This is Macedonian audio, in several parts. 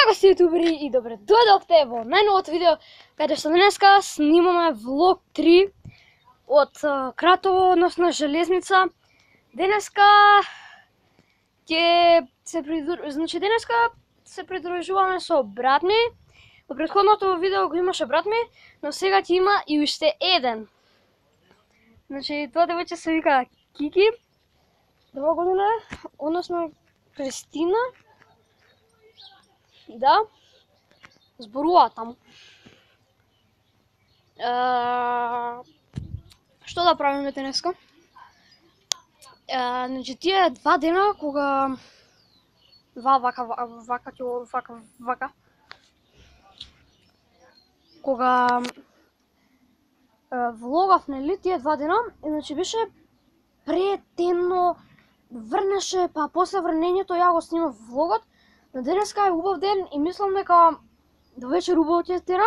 Здраво сте јутубери и добре дојдовте во најновото видео, каде што денеска снимаме влог 3 од Кратово, односно железница. Денеска денеска се придружуваме со брат ми. Во претходното видео го имаше брат ми, но сега ќе има и уште еден. Значи тоа девојче се вика Кики. Добра година, односно Кристина. Да, зборува таму. Што да правиме денеска? Значи тие 2 дена кога кога влогав, нели, тие 2 дена, значи беше претемно, врнеше, па после врнењето ја го снимав влогот. Но денеска е убав ден и мислам дека до вечер убаво ќе тера.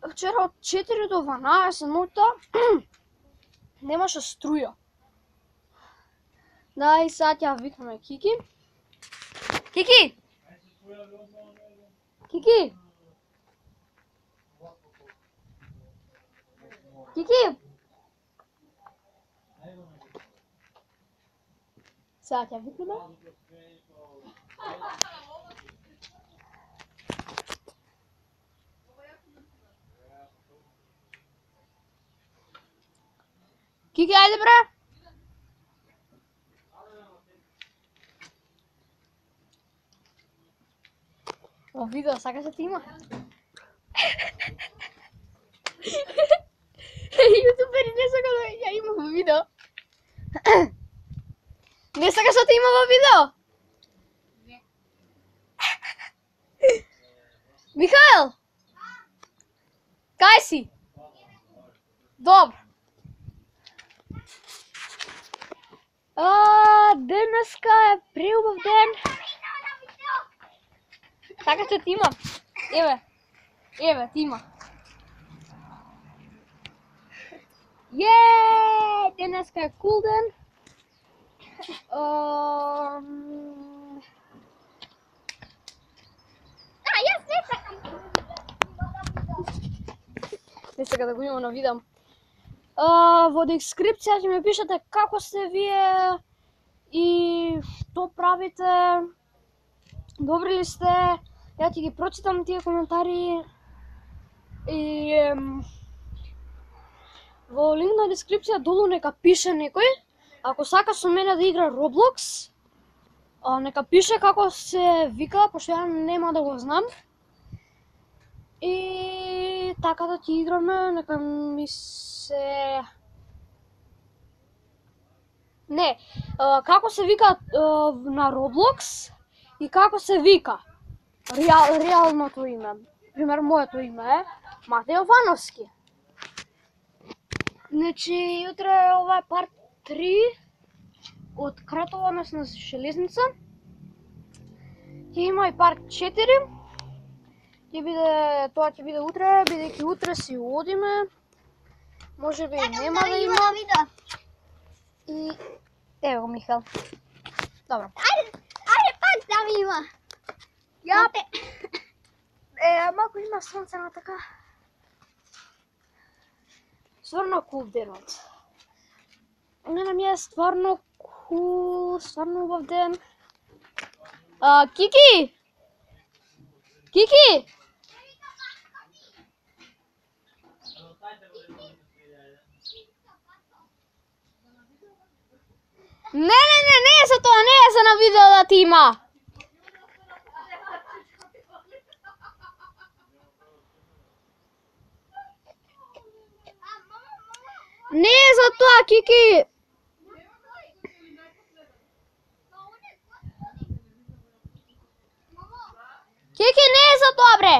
Вчера од 4 до 12 ноќта немаше струја. Да, и сега ќе викнеме Кики. Кики! Кики! Кики! Сега ќе викнеме. Кики, ајде бре! Во видео сакаш да ти има? Јутубери не сака да ја има во видео. Не сакаш да ти има во видео? Михаел! Кај си? Добро. Денеска е преубав ден. Така што ти има. Еве, ти има. Денеска е кул ден. Јас не сакам. Не сака да го има на видео. Во дескрипција ќе ми пишете како сте вие и што правите. Добри ли сте? Ја ќе ги прочитам тие коментари. И во линк на дескрипција долу нека пише некој. Ако сака со мене да игра Roblox, нека пише како се вика, пошто ја нема да го знам. И така да ќе играме, нека ми се... Не, како се вика на Roblox и како се вика реалното име. Пример, моето име е Матеј Јовановски. Значи, утре ова е парт 3 од Кратово, односно железница. Ќе има и парт 4. Тоа ќе биде утре, бидејќи утре си одиме. Може би нема да има. И ево го Михаел. Добро. Ајде пак да ми има. Малку има сонце на така. Стварно кул денот. Мене ми е стварно кул, стварно убав ден. Кики! Кики! Не е за тоа, не е за на видео да ти има. Не е за тоа, Кики. Кики, не е за тоа, бре.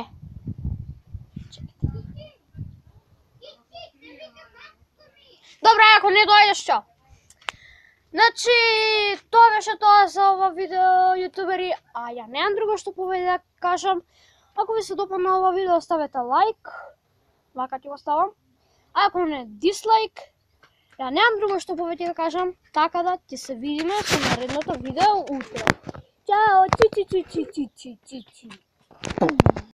Добре, ако не дојдеш, чао. Значи, тоа беше тоа за ова видео, јутубери, а ја немам друго што повеќе да кажам. Ако ви се допадна ова видео, оставете лайк, вака ќе го ставам. А ако не, дислайк. Ја немам друго што повеќе да кажам, така да ќе се видиме со наредното видео утре. Чао, чи чи чи чи чи чи чи чи.